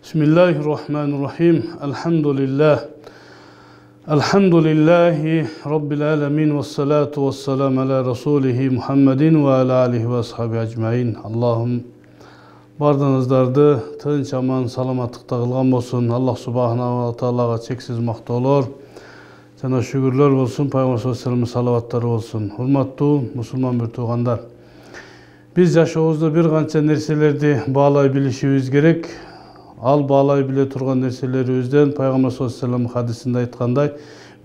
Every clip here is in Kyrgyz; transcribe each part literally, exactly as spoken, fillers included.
Bismillahirrahmanirrahim. Elhamdülillah. Elhamdülillahi Rabbil alemin ve salatu ve selamu ala Resulihi Muhammedin ve ala alihi ve ashabi ecmain. Allah'ım bardığınızdardı tınç aman salamatlıkta kılgan olsun. Allah subhanahu ve ta'alaga çeksiz maktolor. Sana şükürler olsun. Peygamber sallallahu aleyhi ve sellem salavatları olsun. Hurmatlı Müslüman bir tuğandar. Biz yaşoğuzda bir kança nerselerdi bağlay bilişimiz gerek. Al bağlay bile turgan nerseleribizden Peygamber sallallahu aleyhi ve sellem hadisinde aytkanday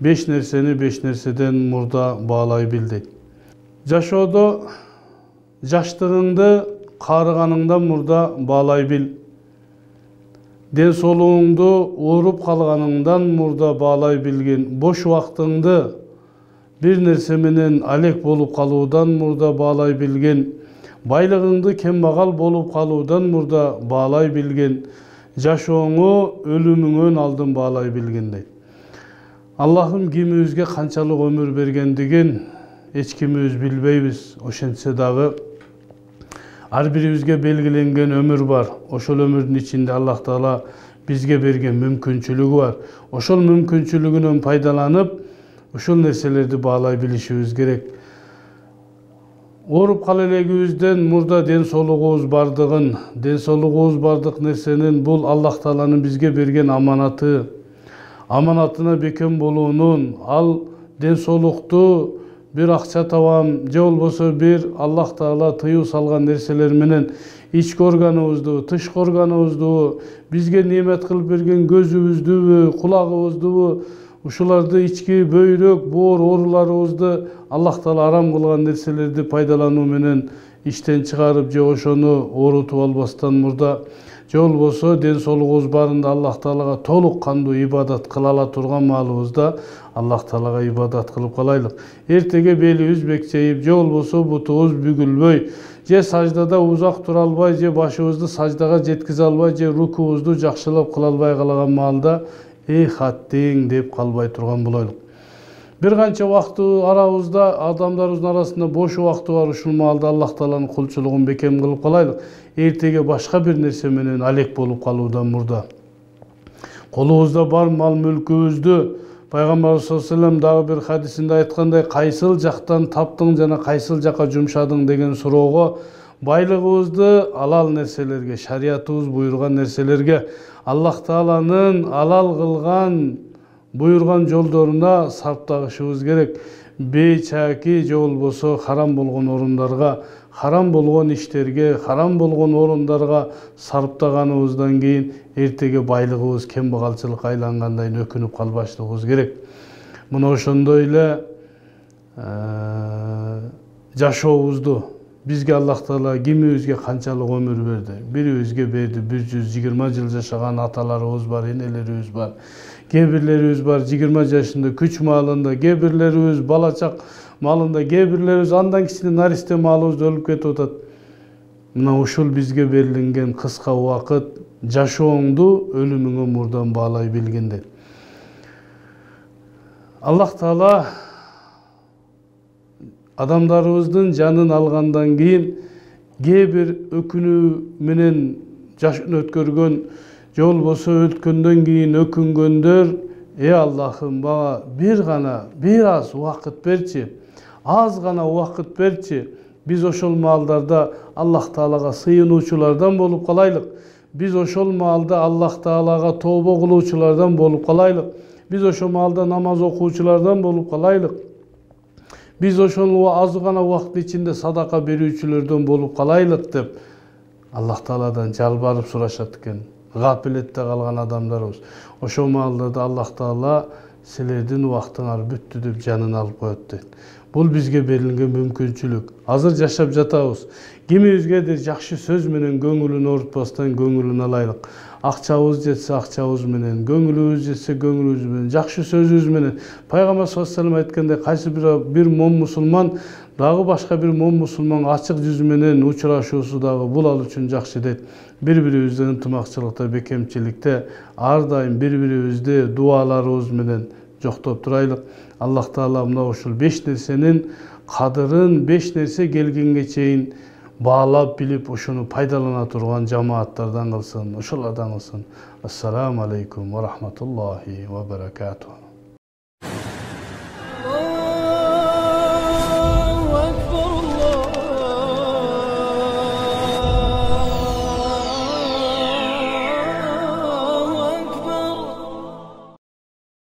beş nerseni beş nerseden murda bağlay bildi. Жашоодо жаштыгыңды каарыганыңдан мурда bağlay bil. Ден соолугуңду ооруп калганыңдан мурда bağlay билгин. Бош убактыңды бир нерсе менен алек болуп калуудан мурда bağlay билгин. Байлыгыңды кембагал болуп калуудан мурда bağlay билгин. Жашооңу өлүмүңөн алдын bağlay билгин дейт. Аллахым кимибизге канчалык өмүр бергендигин эч кимибиз билбейбиз. Ошентсе дагы ар бирибизге белгиленген өмүр бар. Ошол өмүрдүн ичинде Аллах Таала бизге берген мүмкүнчүлүгү бар. Ошол мүмкүнчүлүгүнөн пайдаланып, ошол нерселерди bağlay билишибиз керек. Ооруп кала элегибизден мурда ден соолугубуз бардыгын, ден соолугубуз бардык нерсенин бул Аллах Тааланын бизге берген аманаты, аманатына бекем болуунун, ал ден соолукту бир акча табам, же болбосо бир Аллах Таала тыюу салган нерселер менен ички органыбызды, тышкы органыбызды, бизге немет кылып берген көзүбүздүбү, кулагыбыздыбы, ушуларды ички бөйрөк, боор ооруларыбызды Аллах Таала арам кылган нерселерди пайдалануу менен иштен чыгарып, же ошону оорутуп албастан мурда, же болбосо ден соолугубуз барында Аллах Таалага толук кандуу ибадат кыла ала турган маалыбызда Аллах Таалага ибадат кылып калайлык. Эртеге белибиз бекчейип, же болбосо бутубуз бүгүлбөй, же саждада узак тура албай, же башыбызды саждага жеткизе албай, же рукубузду жакшылап кыла албай калаган маалда эй хаттиң деп калбай турган болойлук. Бир канча убакыт арабызда, адамдарыбыздын арасында бош убакыты бар, ушул маалда Аллах Тааланын кулчулугун бекем кылып калайлык. Эртеге башка бир нерсе менен алек болуп калуудан мурда. Колубузда бар мал мүлкүбүздү Пайгамбар саллаллаху алейхи ва саллям дагы бир хадисинде айткандай, кайсыл жактан таптың жана кайсыл жакка жумшадың деген суроого, байлыгыбызды алал нерселерге, шариятыбыз буйруган нерселерге, Аллах Тааланын алал кылган, буйруган жолдоруна сарптагышыбыз керек. Бейчаки же болбосо харам болгон орундарга, харам болгон иштерге, харам болгон орундарга сарптаганыбыздан кийин эртеге байлыгыбыз кембагалчылыкка айлангандайын өкүнүп калбашлыгыбыз керек. Мына ошондой эле жашообузду бизге Аллах Таала кимибизге канчалык өмүр берди? Бирибизге берди бир жүз жыйырма жыл жашаган аталарыбыз бар, энелерибиз бар. Кээ бирлерибиз бар жыйырма жашында күч маалында, кээ бирлерибиз балачак маалында, кээ бирлерибиз андан кичине наристе маалыбызда өлүп кетип атат. Мына ушул бизге берилген кыска убакыт жашооңду өлүмүңө мурдан bağlay билгенде. Аллах Таала адамдарыбыздын жанын алгандан кийин кээ бир өкүнүү менен жашын өткөргөн, же болбосо өткөндөн кийин өкүнгөндөр, эй Аллахым, мага бир гана, бир аз убакыт берчи, аз гана убакыт берчи. Биз ошол маалдарда Аллах Таалага сыйынуучулардан болуп калайлык. Биз ошол маалда Аллах Таалага тообо кылуучулардан болуп калайлык. Биз ошол маалда намаз окуучулардан болуп калайлык. Биз ошол аз гана убакыт ичинде садака берүүчүлөрдөн болуп калайлык деп Аллах Тааладан жалбарып сурашат экен. Гафилетте калган адамдарыбыз. Ошол маалда Аллах Таала силердин убактыңар бүттү деп жанын алып коет дейт. Бул бизге берилген мүмкүнчүлүк. Азыр жашап жатабыз. Кимибизгедир жакшы сөз менен көңүлүн оорутпастан көңүлүн алайлык. Акчабыз жетсе акчабыз менен, көңүлүбүз жетсе көңүлүбүз менен, жакшы сөзүбүз менен. Пайгамбар саллаллаху алейхи ва саллям айткандай, кайсы бир бир мом мусулман дагы башка бир мом мусулман ачык жүз менен учурашуусу дагы бул ал үчүн жакшы дейт. Бири-бирибизди ынтымакчылыкта, бекемчиликте, ар дайым бири-бирибизди дуаларыбыз менен жоктоп турайлык. Аллах Таала мына ушул беш нерсенин кадырын, беш нерсе келгенге чейин баалап билип ушуну пайдалана турган жамааттардан кылсын, ошолордон кылсын. Ассаламу алейкум ва рахматуллахи ва баракатух.